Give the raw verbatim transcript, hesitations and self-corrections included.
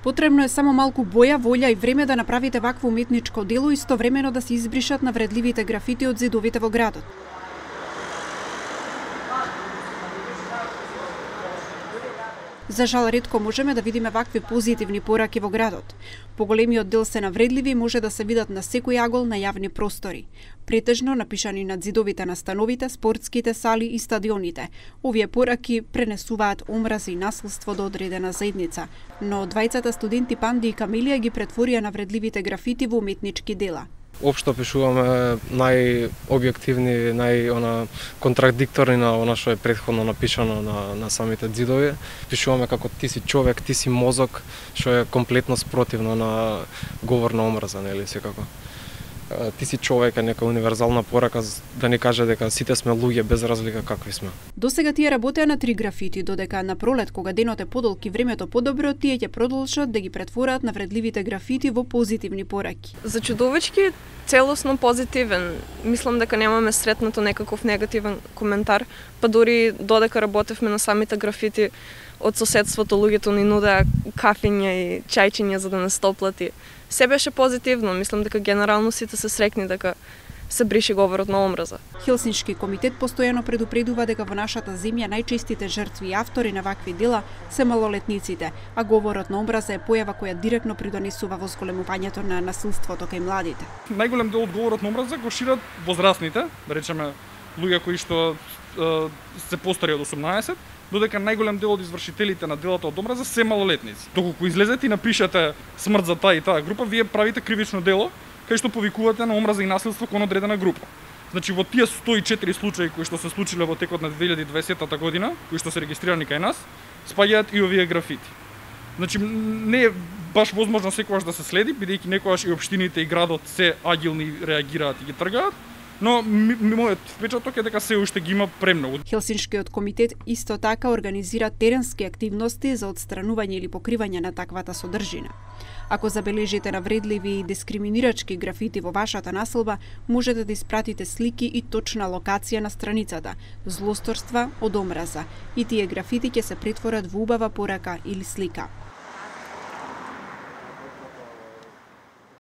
Потребно е само малку боја, волја и време да направите вакво уметничко дело и истовремено да се избришат навредливите графити од зидовите во градот. За жал, ретко можеме да видиме вакви позитивни пораки во градот. Поголемиот дел се навредливи и може да се видат на секој агол на јавни простори. Претежно напишани над зидовите на становите, спортските сали и стадионите. Овие пораки пренесуваат омраза и насилство до одредена заедница, но двајцата студенти Панди и Камилија ги претворија навредливите графити во уметнички дела. Општо пишуваме најобјективни, нај она контрадикторни на она што е претходно напишано на на самите ѕидови. Пишуваме како ти си човек, ти си мозок, што е комплетно спротивно на говор на омраза, нели секако. Ти си човек е нека универзална порака да ни каже дека сите сме луѓе без разлика какви сме. Досега тие работеа на три графити, додека на пролет кога денот е подолг и времето подобро, тие ќе продолжат да ги претворат навредливите графити во позитивни пораки. За чудовички целосно позитивен. Мислам дека немаме сретнато некаков негативен коментар, па дури додека работевме на самите графити од соседството луѓето ни нудеа кафења и чајчиња за да не стоплати. Се беше позитивно, мислам дека генерално сите се срекни дека се бриши говорот на омраза. Хелсиншки комитет постојано предупредува дека во нашата земја најчестите жртви и автори на вакви дела се малолетниците, а говорот на омраза е појава која директно придонесува во зголемувањето на насилството кај младите. Најголем дел од говорот на омраза го шират возрастните, да речеме луѓе кои што е, се постари од осумнаесет, додека најголем дел од извршителите на делата од омраза се малолетници. Доколку излезете и напишете смрт за таа и таа група, вие правите кривично дело кај што повикувате на омраза и насилство кон одредена група. Значи во тие сто и четири случаи кои што се случиле во текот на две илјади и дваесета година, кои што се регистрирани кај нас, спаѓаат и овие графити. Значи не е баш возможно секогаш да се следи, бидејќи некогаш и општините и градот се агилни реагираат и ги тргаат, но мојот впечаток е дека се уште ги има премногу. Хелсиншкиот комитет исто така организира теренски активности за отстранување или покривање на таквата содржина. Ако забележите навредливи и дискриминирачки графити во вашата населба, можете да испратите слики и точна локација на страницата Злосторства од омраза и тие графити ќе се претворат во убава порака или слика.